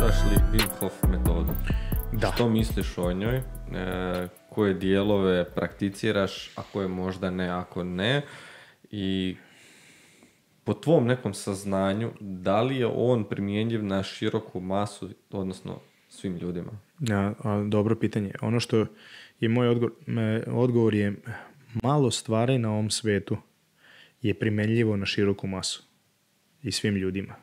Prakticiraš li Wim Hof metodu? Da. Što misliš o njoj? Koje dijelove prakticiraš, a koje možda ne, ako ne? I po tvom nekom saznanju, da li je on primjenjiv na široku masu, odnosno svim ljudima? Dobro pitanje. Ono što je moj odgovor je malo stvari na ovom svetu je primenljivo na široku masu i svim ljudima.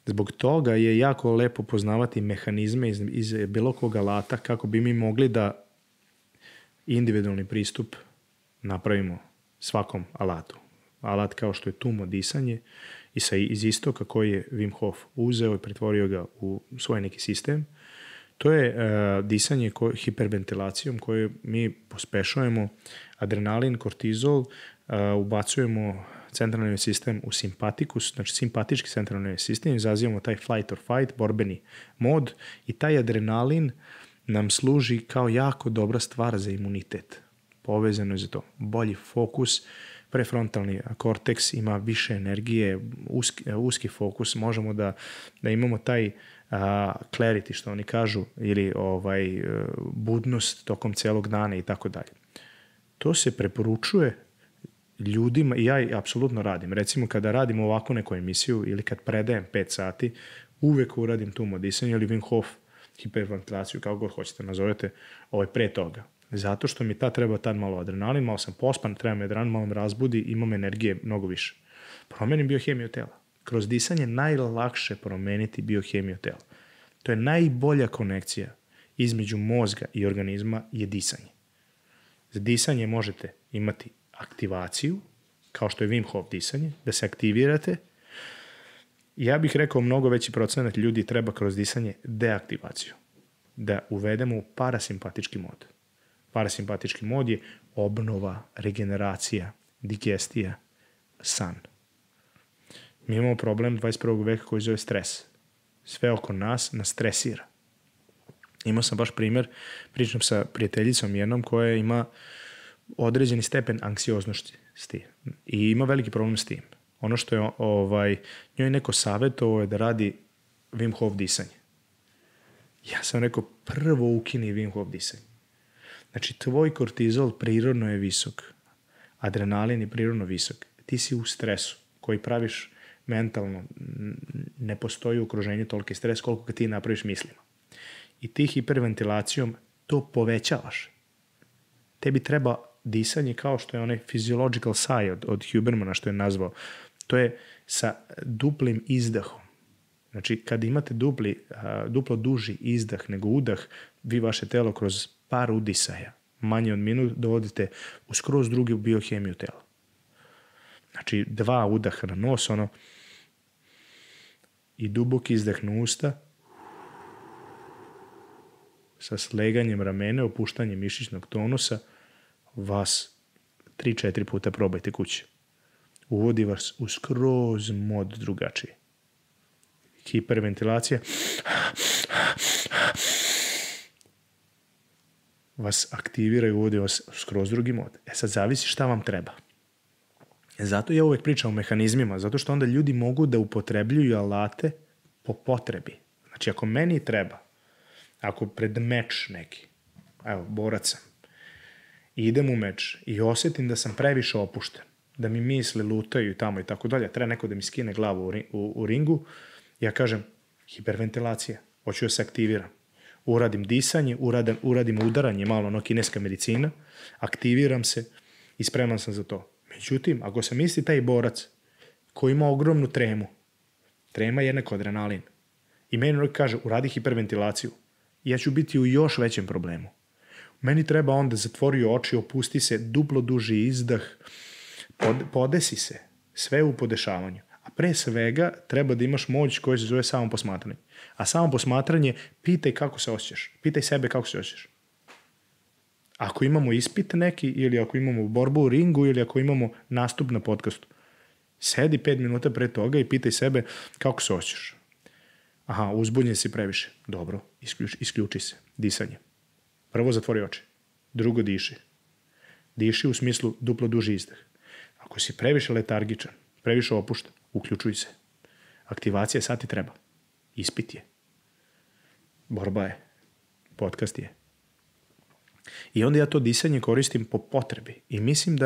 Zbog toga je jako lepo poznavati mehanizme iz bilo kog alata kako bi mi mogli da individualni pristup napravimo svakom alatu. Alat kao što je tumo disanje iz istoka koji je Wim Hof uzeo i pretvorio ga u svoj neki sistem. To je disanje hiperventilacijom koju mi pospešujemo adrenalin, kortizol, ubacujemo centralni nervni sistem u simpatikus, znači simpatički centralni nervni sistem, izazivamo taj flight or fight, borbeni mod i taj adrenalin nam služi kao jako dobra stvar za imunitet. Povezano je za to. Bolji fokus, prefrontalni korteks ima više energije, uski fokus, možemo da imamo taj clarity, što oni kažu, ili budnost tokom celog dana i tako dalje. To se preporučuje ljudima i ja apsolutno radim. Recimo kada radim ovakvu neku emisiju ili kad predajem 5 sati, uvek uradim tumo disanje ili Wim Hof hiperventilaciju, kako god hoćete nazovete, pre toga. Zato što mi treba tad malo adrenalin, malo sam pospan, treba mi adrenalin, malo me razbudi, imam energije mnogo više. Promenim biohemiju tela. Kroz disanje najlakše promeniti biohemiju tela. To je najbolja konekcija između mozga i organizma je disanje. Za disanje možete imati aktivaciju, kao što je Wim Hof disanje, da se aktivirate. Ja bih rekao mnogo veći procenat ljudi treba kroz disanje deaktivaciju. Da uvedemo u parasimpatički mod. Parasimpatički mod je obnova, regeneracija, digestija, san. Mi imamo problem 21. veka koji zove stres. Sve oko nas stresira. Imao sam baš primjer, pričam sa prijateljicom jednom koja ima određeni stepen anksioznosti i ima veliki problem s tim. Ono što je njoj neko savjetovao je da radi Wim Hof disanje. Ja sam rekao, prvo ukini Wim Hof disanje. Znači, tvoj kortizol prirodno je visok. Adrenalin je prirodno visok. Ti si u stresu koji praviš mentalno. Ne postoji u okruženju toliki stres koliko ga ti napraviš mislima. I ti hiperventilacijom to povećavaš. Tebi treba disanje kao što je onaj physiological sigh od Hubermana što je nazvao. To je sa duplim izdahom. Znači, kad imate duplo duži izdah nego udah, vi vaše telo kroz par udisaja, manje od minut, dovodite u skroz drugu biohemiju tela. Znači, 2 udaha na nos, i duboki izdah na usta, sa sleganjem ramene, opuštanjem mišićnog tonusa, vas 3-4 puta probajte kući. Uvodi vas u skroz mod drugačiji. Hiperventilacija vas aktivira i uvodi vas u skroz drugi mod. Sad zavisi šta vam treba. Zato ja uvek pričam o mehanizmima, zato što onda ljudi mogu da upotrebljuju alate po potrebi. Znači, ako meni treba, ako pred meč neki, borac sam, idem u meč i osjetim da sam previše opušten, da mi misli lutaju tamo i tako dalje, treba neko da mi skine glavu u ringu, ja kažem, hiperventilacija, hoću da se aktiviram. Uradim disanje, uradim udaranje, malo kineska medicina, aktiviram se i spreman sam za to. Međutim, ako sam isti taj borac koji ima ogromnu tremu, trema je jednako adrenalin, i meni kaže, uradi hiperventilaciju, ja ću biti u još većem problemu. Meni treba onda zatvori oči, opusti se, duplo duži izdah, podesi se, sve u podešavanju. A pre svega treba da imaš moć koja se zove samo posmatranje. A samo posmatranje, pitaj kako se osjećaš. Pitaj sebe kako se osjećaš. Ako imamo ispit neki, ili ako imamo borbu u ringu, ili ako imamo nastup na podcastu, sedi 5 minuta pre toga i pitaj sebe kako se osjećaš. Aha, uzbudnjen si previše. Dobro, isključi se. Disanje. Prvo zatvori oči. Drugo diši. Diši u smislu duplo duži izdah. Ako si previše letargičan, previše opušten, uključuj se. Aktivacija sad ti treba. Ispit je. Borba je. Podcast je. I onda ja to disanje koristim po potrebi. I mislim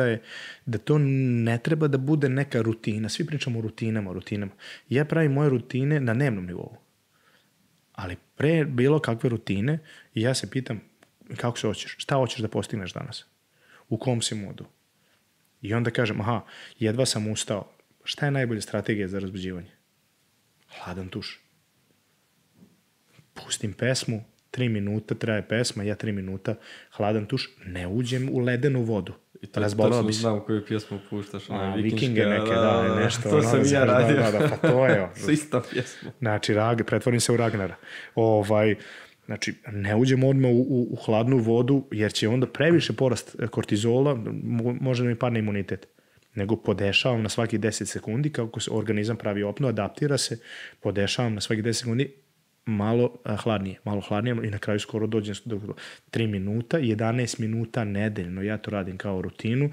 da to ne treba da bude neka rutina. Svi pričamo o rutinama. Ja pravim moje rutine na dnevnom nivou. Ali pre bilo kakve rutine ja se pitam kako se hoćeš, šta hoćeš da postigneš danas? U kom si modu? I onda kažem, jedva sam ustao. Šta je najbolja strategija za razbuđivanje? Hladan tuš. Pustim pesmu, 3 minuta traje pesma, ja 3 minuta, hladan tuš, ne uđem u ledenu vodu. I to točno znam koju pjesmu puštaš. Vikinge neke, nešto. To sam ja radio. Pa to je. S istom pjesmu. Znači, pretvorim se u Ragnara. Znači, ne uđem odmah u hladnu vodu, jer će onda previše porast kortizola, može da mi padne imunitet. Nego podešavam na svaki 10 sekundi, kako se organizam pravi opnu, adaptira se, podešavam na svaki 10 sekundi, malo hladnije i na kraju skoro dođem do 3 minuta, 11 minuta nedeljno, ja to radim kao rutinu,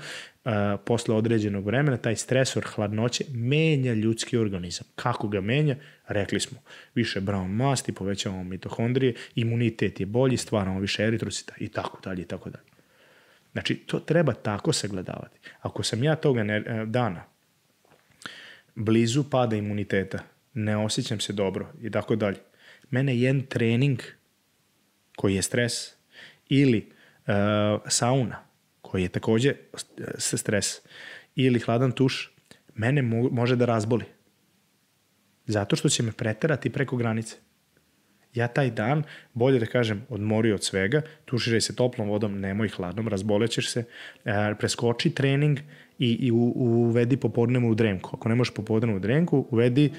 posle određenog vremena, taj stresor hladnoće menja ljudski organizam. Kako ga menja? Rekli smo, više brown masti, povećavamo mitohondrije, imunitet je bolji, stvaramo više eritrocita i tako dalje, i tako dalje. Znači, to treba tako sagledavati. Ako sam ja toga dana blizu pada imuniteta, ne osjećam se dobro i tako dalje, mene jedan trening koji je stres ili sauna koji je također stres ili hladan tuš, mene može da razboli. Zato što će me preterati preko granice. Ja taj dan, bolje da kažem, odmori od svega, tuširaj se toplom vodom, nemoj hladnom, razbolećeš se, preskoči trening i uvedi popodnevnu drenku. Ako ne možeš popodnevnu drenku, uvedi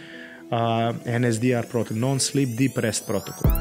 NSDR protokol, non-sleep deep rest protokol.